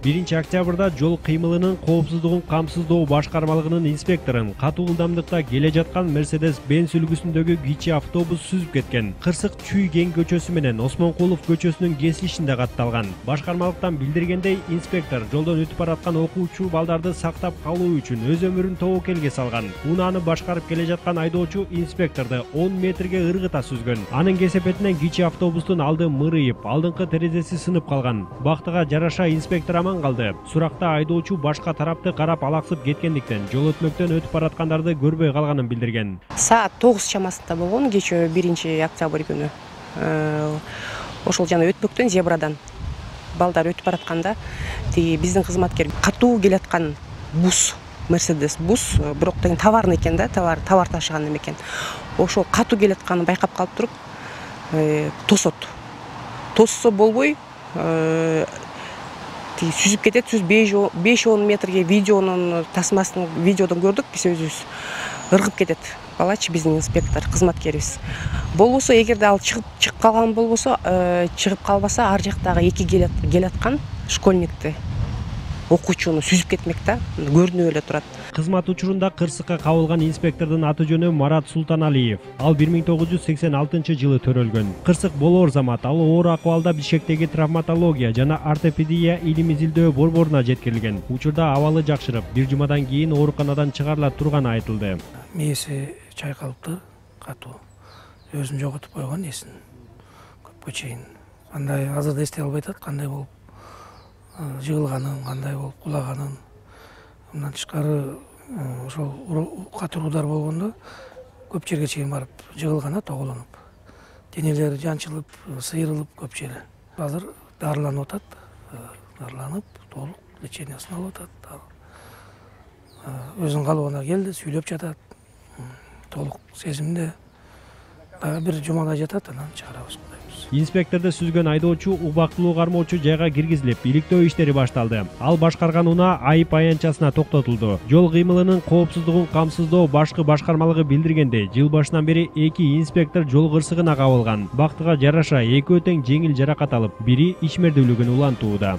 1-октябрда жол кыймылынын коопсуздугун камсыздоо башкармалыгынын инспекторун катуу ылдамдыкта келе жаткан Mercedes-Benz үлгүсүндөгү кичи автобус сүзүп кеткен. Кырсык Чүй Кен көчөсү менен Осмонкулов көчөсүнүн кесилишинде катталган. Башкармалыктан билдиргендей, инспектор жолдон өтүп бараткан окуучу балдарды сактап калуу үчүн өз өмүрүн тобокелге салган. Унааны башкарып келе жаткан айдоочу инспекторду 10 метрге ыргыта сүзгөн. Анын кесепетинен кичи автобустун алды мырыйып, алдыңкы терезеси сынып калган. Бактыга жараша инспектор аман калды. Суракта айдоочу башка тарапты карап алаксып кеткендиктен жол өтмөктөн өтүп бараткандарды көрбөй калганын билдирген. Саат 9 чамасында болгон кечээ 1-октябрь күнү. Ошол жана өтмөктөн зебрадан балдар өтүп баратканда биздин кызматкер катуу келаткан бус, Mercedes бус, бирок деген товарный экен да, товар ташыган экен. Ошол катуу келатканын байкап калып туруп, тосот. Тосса болбой, сүзүп кетет, 5-10 метрге видеодон көрдүк, биз өзүбүз ыргып кетет. Балачы биздин инспектор, кызматкерибиз. Болбосо, эгерде ал чыгып калган болбосо, чыгып калбаса, ар жактагы 2 келаткан школьникти, окуучуну сүзүп кетмек да, көрүнүп эле турат. Кызмат учурунда кырсыкка кабылган инспектордун аты жөнү Марат Султаналиев. Ал 1986-жылы төрөлгөн. Кырсык болоор замат ал оор акыбалда Бишкектеги травматология жана ортопедия илим изилдөө борборуна жеткирилген. Учурда абалы жакшырып, бир жумадан кийин ооруканадан чыгарыла турганы айтылды. Мээси чайкалыптыр, катуу. Өзүн жоготуп койгон эсин. Көпкө чейин. Кандай азыр да эстей албай атат, кандай болуп жыгылганын, кандай болуп кулаганын. Мындан тышкары ошол катуу удар болгондо көп жерге чейин барып жыгылган, тоголонуп. Денелери жанчылып, сыйрылып көп жери. Азыр дарыланып атат, дарыланып, толук лечениясын алып атат. Өзүнүн калыбына келди, сүйлөп жатат. Толук сезимде. Дагы бир жумадай жатат, анан чыгарабыз. Инспекторду сүзгөн айдоочу убактылуу кармоочу жайга киргизилип, иликтөө иштери башталды. Ал башкарган унаа айып аянтчасына токтотулду. Жол кыймылынын коопсуздугун камсыздоо башкы башкармалыгы билдиргендей, жыл башынан бери 2 инспектор жол кырсыгына кабылган. Бактыга жараша экөө тең жеңил жаракат алып, бири ичмердүүлүгүн улантууда.